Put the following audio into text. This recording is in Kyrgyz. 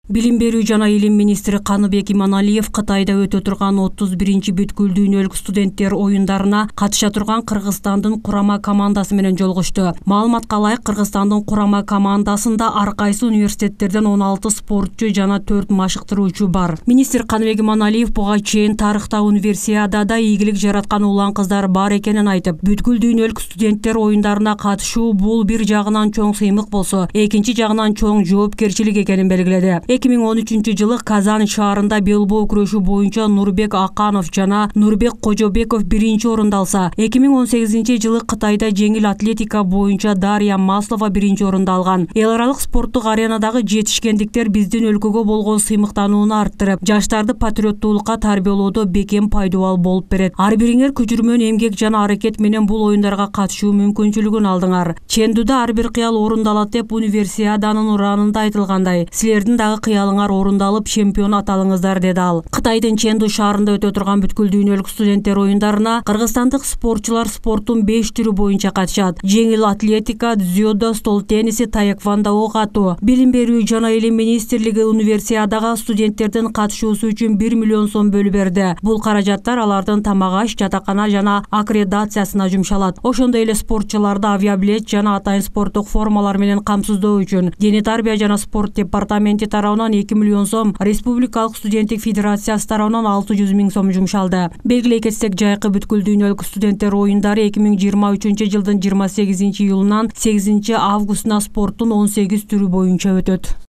Билим берүү жана илим министри Каныбек Иманалиев Кытайда өтө турган 31-чи бүткүл дүйнөлүк студенттер оюндарына катыша турган Кыргызстандын курама командасы менен жолугушту. Маалыматка ылайык, Кыргызстандын курама командасында ар кайсы университеттерден 16 спортчу жана 4 машыктыруучу бар. Министр Каныбек Иманалиев буга чейин тарыхта универсиадада ийгилик жараткан улан кыздар бар экенин айтып, бүткүл дүйнөлүк студенттер оюндарына катышуу бул бир жагынан чоң сыймык болсо, экинчи жагынан чоң жоопкерчилик экенин белгиледи. 2013-жылы Казан шаарында белбоо күрөшү боюнча Нурбек Аканов жана Нурбек Кожобеков биринчи орунду алса, 2018-жылы Кытайда жеңил атлетика боюнча Дарья Маслова биринчи орунду алган. Эл аралык спорттук аренадагы жетишкендиктер биздин өлкөгө болгон сыймыктанууну арттырып, жаштарды патриоттуулукка тарбиялоодо бекем пайдалуу болуп берет. Ар бириңер күчүрмөн эмгек жана аракет менен бул оюндарга катышуу мүмкүнчүлүгүн алдыңар. Чендүүдө ар бир кыял орундалат деп универсиаданын ураанында айтылгандай, силердин дагы кыялыңар орундалып, чемпион аталыңыздар, деди ал. Кытайдын Ченду шаарында өтө турган бүткүл дүйнөлүк студенттер оюндарына кыргызстандык спортчулар спорттун 5 түрү боюнча катышат. Жеңил атлетика, дзюдо, стол тенниси, таэквондо, ок атуу. Билим берүү жана илим министрлиги универсиадага студенттердин катышуусу үчүн 1 миллион сом бөлүп берди. Бул каражаттар алардын тамак-аш, жатакана жана аккредитациясына жумшалат. Ошондой эле спортчуларды авиабилет жана атайын спорттук формалар менен камсыздоо үчүн Дене тарбия жана спорт департаменти тарабынан 2 миллион сом, Республикалык студенттик федерациясы тарабынан 600 000 сом жумшалды. Белгилей кетсек, жайкы бүткүл дүйнөлүк студенттер оюндары 2023-жылдын 28 июлунан 8 августуна спорттун 18 түрү боюнча өтөт.